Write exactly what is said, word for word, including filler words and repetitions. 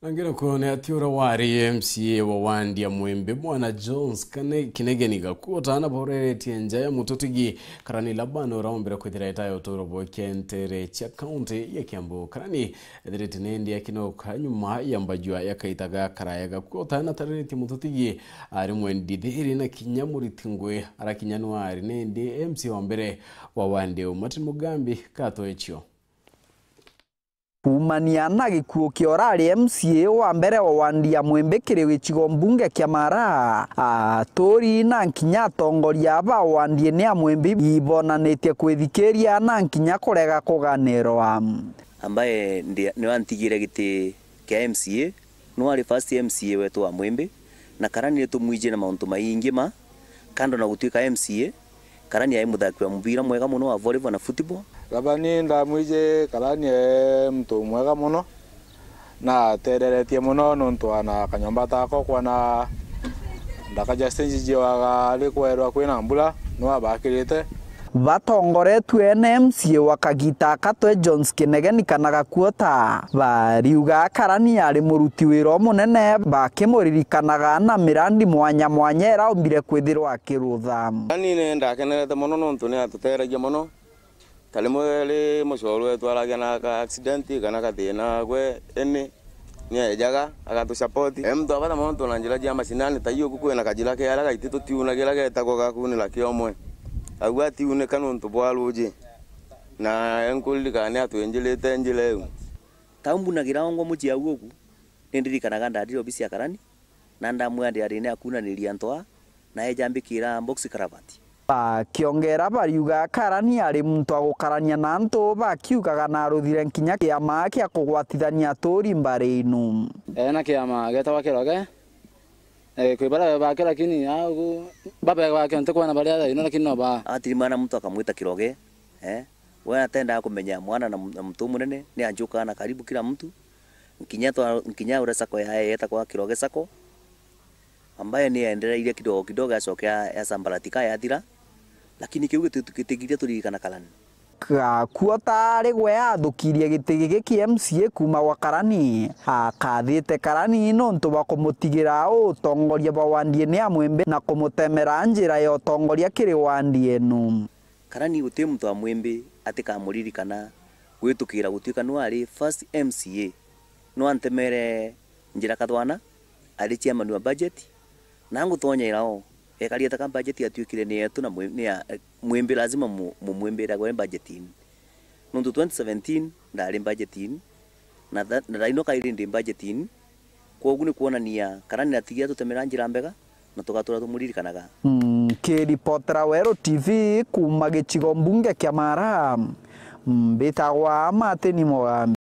Angera kwone ati uria wari M C A wa wandi ya Mwimbi, Bwana Jones Kane-, Kinegeni Gakuota, na boreretie nja ya mututigi Karani Laban, uria ombire kwithira etaya uturo bwa kentere cia kaunti ya Kiambu. Karani ethirite nendi akinoka nyuma ya mbajua ya kaita ga karaya. Gakuota na tariritie mututigi ari mwendi thiri na kinya muriti ngwi, arakinya nwari nendi M C A wa mbere wa wandi u Martin Mugambi. Kato ecio. Kuumania na gikuo kia urari M C A wa mbere wa wandi ya Mwimbi kiri gicigo mbunge kia Mara, aturi na nkinya atongoria ba wandi ni ya Mwimbi ibonanitie kwithikiria na nkinya kurega kuganirwa. Ambaye ndi-, niwe antigire giti kia M C A, niwe ari first M C A wetu wa Mwimbi, na Karani ni tumwijire na mauntu maingi ma, kando na gutuika M C A, Karani ai muthaki wa mubira mwega mono wa volleyball na football. Gavana ndamwiji Karani e muntu mwega mono, na atereretie mono nontu ana kanyomba tako kwana ndaka ja stage jiwaga ari kwerwa kwina mbura, niwe abakirite. Batongoretue ni M C A wa kagita aka twe Jones Kinegeni kana Gakuota, bariuga Karani ari muruti wira umunene, bakimuririkanaga na mirandi mwanya mwanya iraumbire kwithirwa akirutha. Karani ni ndakenerete mono nontu ni atuteragia mono. Ta rimwe ri mucoru wetu aragia na ka accident kana kathina gwe ini, ni ejaga agatusupport. E muntu wa bata mono na njira cia macinani, ta iu ku kwina kajira keara gaiti tutiunagira getagwa gakunira kiomwe. Au atiunika nontu bwa ruji, na enkuririkana ni atwinjirite njira iu. Ta umbunagira ongwa mucii au uku, ni ndirikanaga ndarire obisi ya Karani, na ndamwira ndiari ni akunaniria antu aa, na eja ambikira box cravat. Bakiongera bariuga Karani ari muntu wa gukarania na antu, bakiugaga na aruthire nkinya kiama kia kugwatithania aturi mbari inu. Ena kiama getagwa Kiroge, eh, kwi baria bake, lakini au babe bake ntikwona baria thaino, lakini no ba. Atirimana muntu akamwita Kiroge, eh? We atendaga kumenya mwana na mu-, na muntu umunene, ni anjukaga na karibu kila mtu. Nkinya twa-, nkinya uria sacco yae yetagwa Kiroge Sacco, ambaye ni yaendereire kidogo kidogo, yacoka ya, yasambaratika, yathira, lakini kiu gitu-, gitigiria turirikana Karani. Gakuota ari gwe athukirie giti giki kia M C A kuuma gwa Karani, akathite Karani nontu bwa kumutigira utongoria bwa wandi ene ya Mwimbi na kumutemera njira ya utongoria kiri wandi enu. Karani guti muntu wa Mwimbi atikamuririkana gwitukira gutuika niwe ari first M C A. No antemere njira kathwana, ari chairman wa budget, na ngutonyera o, ekari ataka budget yatuikire ni yetu na Mwi-, ni ya, Mwimbi lazima mu-, mumwimbire agwe budget ini. Nontu twenty seventeen ndari budget ini, na tha-, na thaino kairi ndi budget ini, kwogu ni kwonania Karani atigia tutemera njira mbega, na tugatura tumuririkanaga. Mm, kiripotera Weru T V kuuma gicigo mbunge kia Mara, mbitagwa Martin Mugambi.